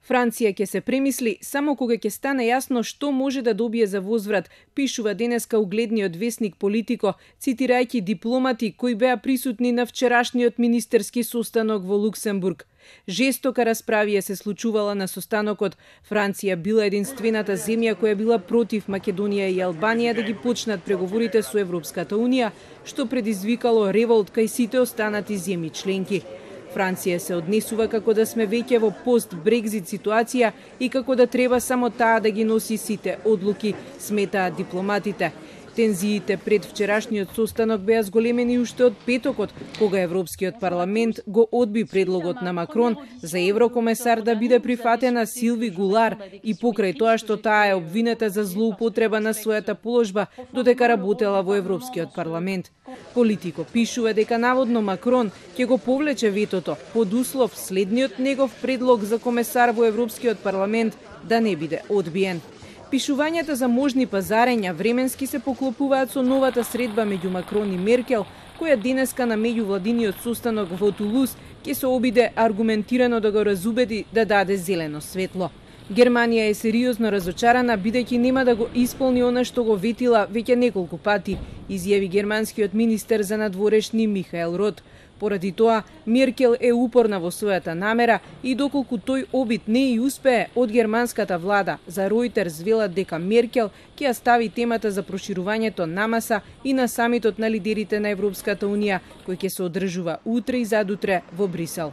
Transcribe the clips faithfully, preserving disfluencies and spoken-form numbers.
Франција ќе се премисли само кога ќе стане јасно што може да добие за возврат, пишува денеска угледниот весник Политико, цитирајќи дипломати кои беа присутни на вчерашниот министерски состанок во Луксембург. Жестока расправија се случувала на состанокот. Франција била единствената земја која била против Македонија и Албанија да ги почнат преговорите со Европската унија, што предизвикало револт кај сите останати земји членки. Франција се однесува како да сме веќе во пост-Брекзит ситуација и како да треба само таа да ги носи сите одлуки, сметаат дипломатите. Тензиите пред вчерашниот состанок беа зголемени уште од петокот, кога Европскиот парламент го одби предлогот на Макрон за еврокомесар да биде прифатена Силви Гулар и покрај тоа што таа е обвинета за злоупотреба на својата положба додека работела во Европскиот парламент. Политико пишува дека наводно Макрон ќе го повлече ветото под услов следниот негов предлог за комесар во Европскиот парламент да не биде одбиен. Пишувањата за можни пазарења временски се поклопуваат со новата средба меѓу Макрон и Меркел, која денеска на меѓувладиниот состанок во Тулуз ќе се обиде аргументирано да го разубеди да даде зелено светло. Германија е сериозно разочарана бидејќи нема да го исполни она што го ветила веќе неколку пати, изјави германскиот министер за надворешни Михаел Рот. Поради тоа, Меркел е упорна во својата намера и доколку тој обид не и успее, од германската влада за Ројтерс велат дека Меркел ќе ја стави темата за проширувањето на маса и на самитот на лидерите на Европската унија, кој ќе се одржува утре и задутре во Брисел.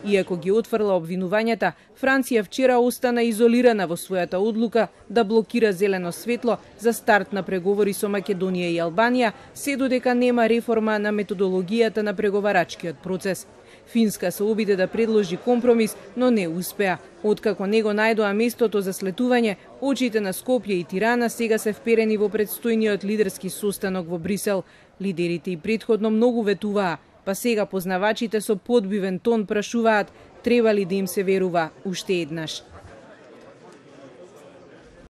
Иако ги отфрла обвинувањата, Франција вчера остана изолирана во својата одлука да блокира зелено светло за старт на преговори со Македонија и Албанија, се додека нема реформа на методологијата на преговарачкиот процес. Финска се обиде да предложи компромис, но не успеа. Откако не го најдоа местото за слетување, очите на Скопје и Тирана сега се вперени во предстојниот лидерски состанок во Брисел. Лидерите и претходно многу ветуваа, па сега познавачите со подбивен тон прашуваат треба ли да им се верува уште еднаш.